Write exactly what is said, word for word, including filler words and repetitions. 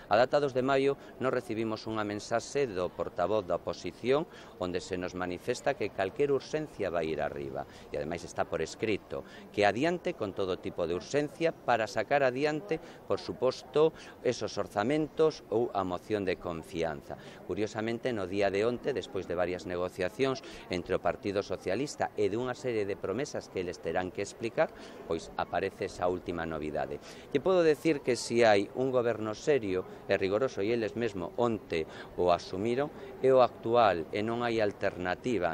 A data dos de maio nos recibimos unha mensaxe do portavoz da oposición onde se nos manifesta que calquer urxencia vai ir arriba e ademais está por escrito que adiante con todo tipo de urxencia para sacar adiante, por suposto, esos orzamentos ou a moción de confianza. Curiosamente, no día de onte, despois de varias negociacións entre o Partido Socialista e de unha serie de promesas que eles terán que explicar, pois aparece esa última novidade. E podo decir que se hai un goberno serio e rigoroso, e eles mesmo onte o asumiron, é o actual e non hai alternativa